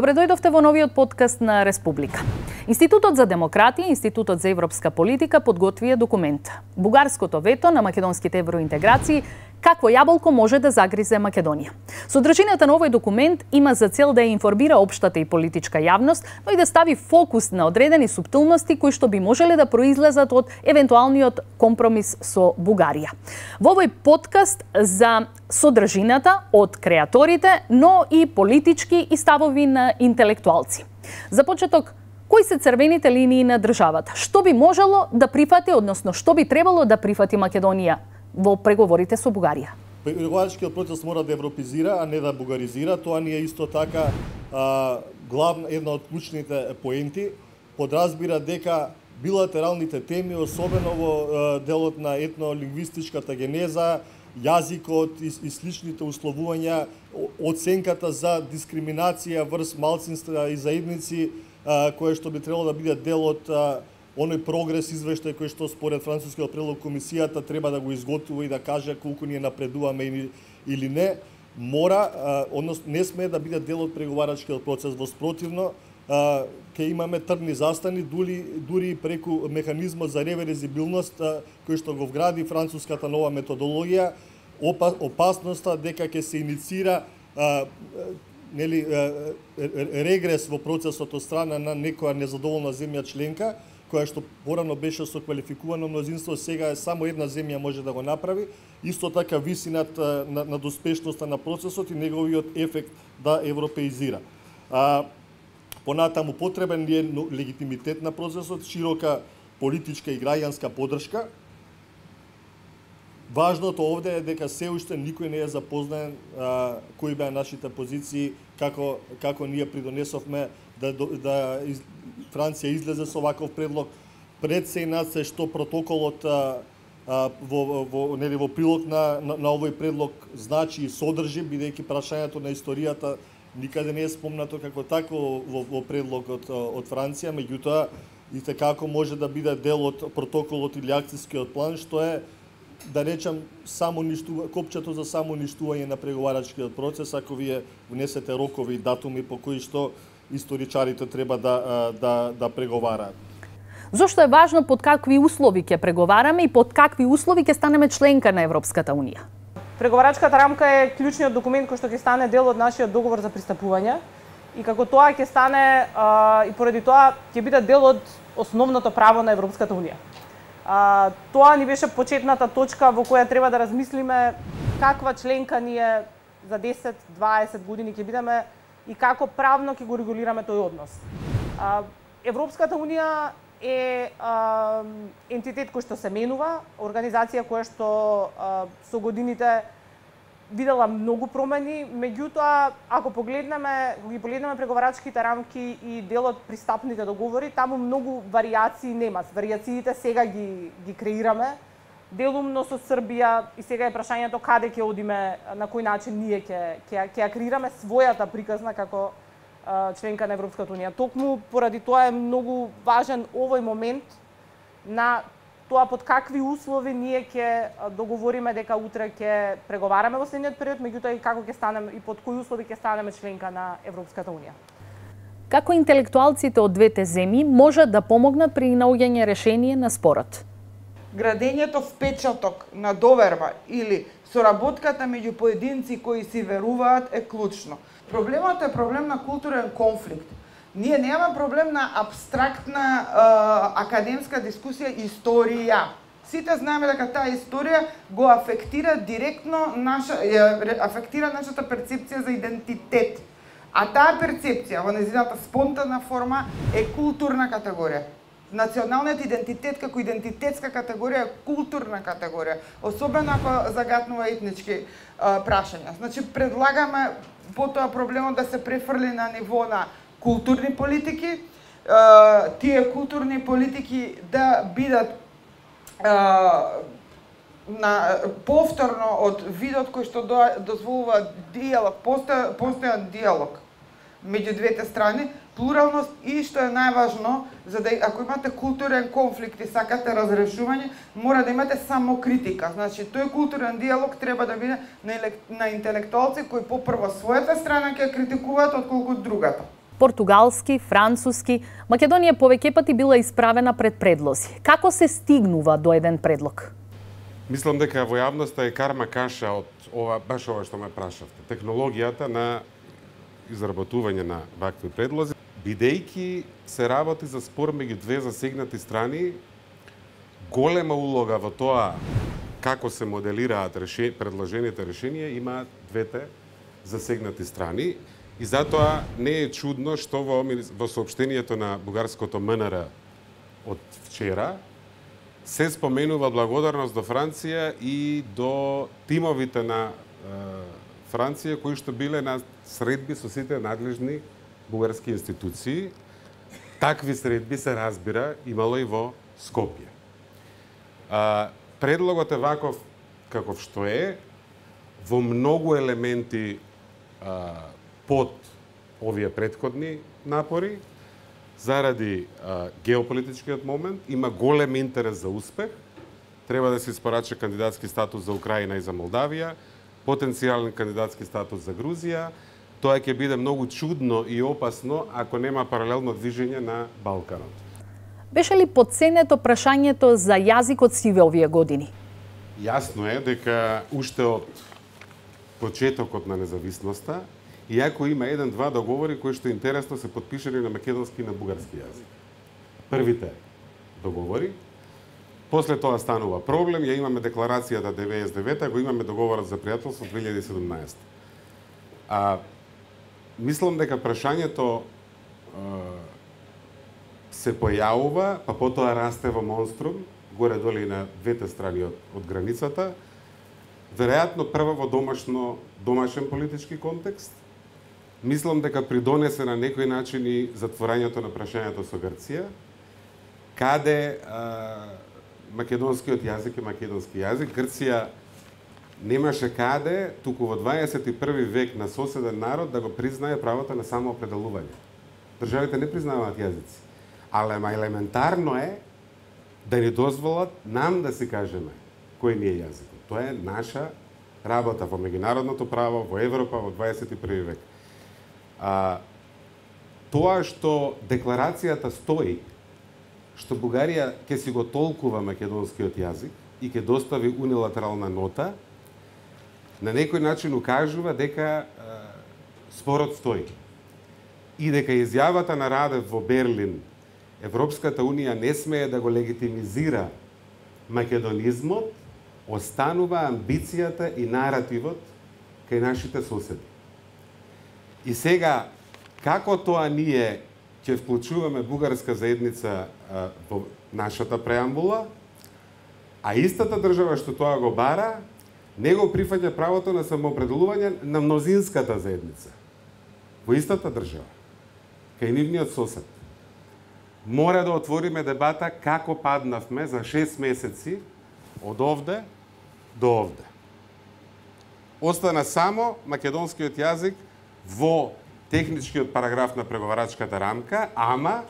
Добре дојдовте во новиот подкаст на Республика. Институтот за демократија и Институтот за европска политика подготвија документ. Бугарското вето на македонските евроинтеграции, какво јаболко може да загризе Македонија. Содржината на овој документ има за цел да ја информира општата и политичка јавност, но и да стави фокус на одредени суптилности кои што би можеле да произлезат од евентуалниот компромис со Бугарија. Во овој подкаст за содржината од креаторите, но и политички и ставови на интелектуалци. За почеток, кои се црвените линии на државата? Што би можело да прифати, односно што би требало да прифати Македонија во преговорите со Бугарија? Преговарачкиот процес мора да европезира, а не да бугаризира. Тоа ни е исто така една од клучните поенти. Подразбира дека билатералните теми, особено во делот на етнолингвистичката генеза, јазикот и сличните условувања, оценката за дискриминација врз малцинства и заедници, кое што би требало да биде дел од оној прогрес извештај кој што според францускиот предлог комисијата треба да го изготвува и да каже колку ние напредуваме или не, мора, односно не смее да биде дел од преговарачкиот процес. Во спротивно, ќе имаме тргни застани, дури преку механизмот за реверзибилност кој што го вгради француската нова методологија, опасноста дека ќе се иницира регрес во процесот од страна на некоја незадоволна земја членка, која што порано беше со квалификувано мнозинство, сега е само една земја може да го направи. Исто така висината на успешноста на процесот и неговиот ефект да европеизира. Понатаму потребен е легитимитет на процесот, широка политичка и граѓанска поддршка. Важното овде е дека се уште никој не е запознаен кои беа нашите позиции, како ние придонесовме да Франција излезе со ваков предлог. Пред се се што протоколот во прилог на овој предлог значи и содржи, бидејќи прашањето на историјата никаде не е спомнато како тако во предлогот од Франција, меѓутоа и како може да биде дел од протоколот или акцијскиот план, што е, да речам, копчето за само уништување на преговарачкиот процес, ако вие внесете рокови и датуми по кои што историчарите треба да преговараат. Зошто е важно под какви услови ќе преговараме и под какви услови ќе станеме членка на Европската унија? Преговарачката рамка е клучниот документ кој што ќе стане дел од нашиот договор за пристапување и како тоа ќе стане и поради тоа ќе биде дел од основното право на Европската унија. Тоа ни беше почетната точка во која треба да размислиме каква членка ние за 10-20 години ќе бидеме и како правно ќе го регулираме тој однос. Европската унија е ентитет кој што се менува, организација која што со годините видела многу промени, меѓутоа ако ги погледнеме преговарачките рамки и делот пристапните договори, таму многу варијации нема. Варијациите сега ги креираме, делумно со Србија и сега е прашањето каде ќе одиме, на кој начин ние ќе ја креираме својата приказна како членка на Европската унија. Токму поради тоа е многу важен овој момент на тоа под какви услови ние ќе договориме дека утре ќе преговараме во следниот период, меѓутоа и како ќе станеме и под кои услови ќе станеме членка на Европската унија. Како интелектуалците од двете земји можат да помогнат при наоѓање решение на спорот? Градењето впечаток на доверба или соработката меѓу поединци кои си веруваат е клучно. Проблемот е проблем на културен конфликт. Ние немаме проблем на абстрактна академска дискусија историја. Сите знаеме дека таа историја го афектира директно афектира нашата перцепција за идентитет. А таа перцепција во нејзината спонтанна форма е културна категорија. Националниот идентитет како идентитетска категорија е културна категорија, особено ако загатнува етнички прашања. Значи предлагаме потоа проблемот да се префрли на ниво на културни политики, тие културни политики да бидат повторно од видот кој што дозволува диалог, постојан диалог меѓу двете страни, плуралност и што е најважно, за да ако имате културен конфликт и сакате разрешување, мора да имате само критика. Значи тој културен диалог треба да биде на интелектуалци кои попрво својата страна ќе критикуваат отколку другата. португалски, француски, Македонија повеќе пати била исправена пред предлози. Како се стигнува до еден предлог? Мислам дека во јавноста е карма каша од баш ова што ме прашавте. Технологијата на изработување на вакви предлози, бидејќи се работи за спор меѓу две засегнати страни, голема улога во тоа како се моделираат предложените решенија имаат двете засегнати страни и затоа не е чудно што во соопштението на бугарското МНР од вчера се споменува благодарност до Франција и до тимовите на Франција кои што биле на средби со сите надлежни бугарски институции. Такви средби се разбира имало и во Скопје. Предлогот е ваков каков што е, во многу елементи под овие претходни напори, заради геополитичкиот момент, има голем интерес за успех. Треба да се испорача кандидатски статус за Украина и за Молдавија, потенцијален кандидатски статус за Грузија. Тоа ќе биде многу чудно и опасно ако нема паралелно движење на Балканот. Беше ли подценето прашањето за јазикот сиве овие години? Јасно е дека уште од почетокот на независноста, иако има еден-два договори кои што интересно се подпишани на македонски и на бугарски јазик. Првите договори, после тоа станува проблем, ја имаме декларацијата 99-та, го имаме договорот за пријателство 2017. Мислам дека прашањето се појавува, па потоа расте во монструм, горе-доле и на двете страни од границата, веројатно прво во домашен политички контекст. Мислам дека придонесе на некој начин и затворањето на прашањето со Грција, каде македонскиот јазик е македонски јазик. Грција немаше каде, туку во 21 век на соседен народ да го признае правото на самоопределување. Државите не признаваат јазици, але елементарно е да ни дозволат нам да си кажеме кој ни е јазикот. Тоа е наша работа во меѓународното право, во Европа, во 21 век. Тоа што декларацијата стои, што Бугарија ќе си го толкува македонскиот јазик и ќе достави унилатерална нота, на некој начин укажува дека спорот стои. И дека изјавата на Радев во Берлин, Европската Унија не смее да го легитимизира македонизмот, останува амбицијата и наративот кај нашите соседи. И сега, како тоа ние ќе вклучуваме бугарска заедница во нашата преамбула, а истата држава што тоа го бара, не го прифаќа правото на самоопределување на мнозинската заедница. Во истата држава, кај нивниот сосед. Мора да отвориме дебата како паднавме за 6 месеци од овде до овде. Остана само македонскиот јазик во техничкиот параграф на преговарачката рамка, ама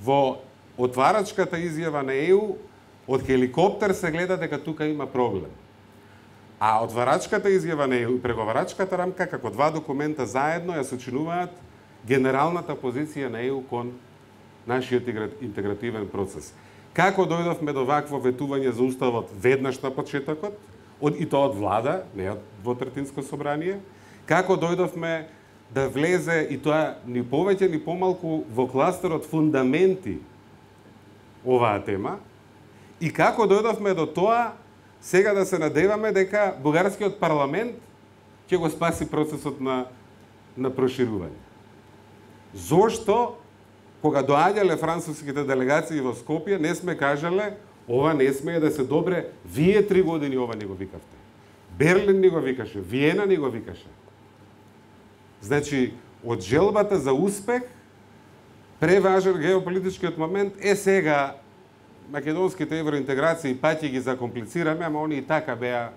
во отварачката изјава на ЕУ од хеликоптер се гледа дека тука има проблем. А отварачката изјава на ЕУ и преговарачката рамка како два документа заедно ја сочинуваат генералната позиција на ЕУ кон нашиот интегративен процес. Како дојдовме до вакво ветување за уставот веднаш на почетокот, и тоа од влада, не од двотретинско собрание, како дојдовме да влезе и тоа ни повеќе ни помалку во кластерот фундаменти оваа тема, и како дојдовме до тоа сега да се надеваме дека бугарскиот парламент ќе го спаси процесот на проширување. Зошто кога доаѓале француските делегации во Скопје, не сме кажале, ова не смее да се добре, вие 3 години ова не го викавте. Берлин не го викаше, Виена не го викаше. Значи, од желбата за успех, преважен геополитичкиот момент е сега македонските евроинтеграции пати ги закомплицираме, ама они и така беа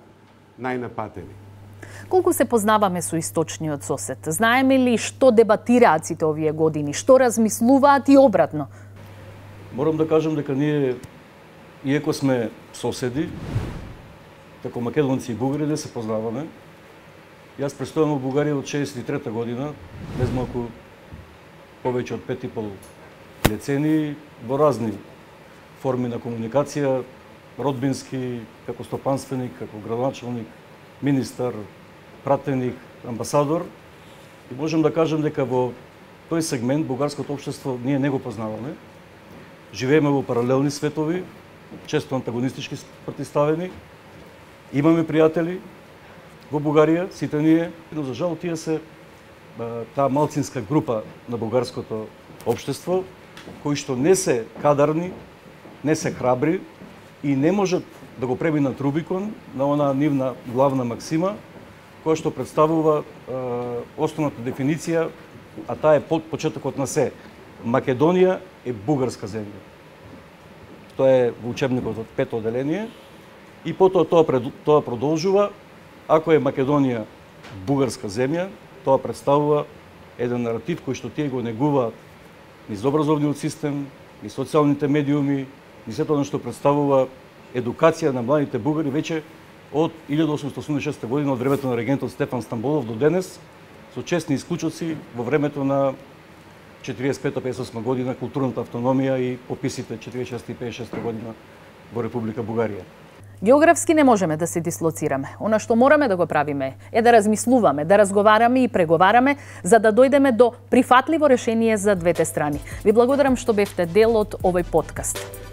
најнапатени. Колку се познаваме со источниот сосед? Знаеме ли што дебатираат сите овие години? Што размислуваат и обратно? Морам да кажам дека ние, иако сме соседи, како македонци и бугари, да се познаваме. Јас престојам во Бугарија од 63-та година, без малку повеќе од 5,5 децении во разни форми на комуникација, родбински, како стопанственик, како градоначалник, министар, пратеник, амбасадор. И можем да кажем дека во тој сегмент бугарското општество ние не го познаваме. Живееме во паралелни светови, често антагонистички протиставени. Имаме пријатели во Бугарија, сите ние, но за жал тие се таа малцинска група на бугарското општество, кои што не се кадарни, не се храбри и не можат да го преминат Рубикон на онаа нивна главна максима, која што представува основната дефиниција, а таа е почетокот на се. Македонија е бугарска земја. Тоа е во учебникот од 5-то одделение и потоа тоа продолжува. Ако е Македонија бугарска земја, тоа представува еден наратив кој што тие го негуваат низ образовниот систем, низ социјалните медиуми, низ сето што представува едукација на младите бугари веќе од 1886 година, од времето на регентот Стефан Стамболов до денес, со честни исклучоци во времето на 45-58 година културната автономија и пописите 46 и 56 година во Република Бугарија. Географски не можеме да се дислоцираме. Она што мораме да го правиме е да размислуваме, да разговараме и преговараме за да дојдеме до прифатливо решение за двете страни. Ви благодарам што бевте дел од овој подкаст.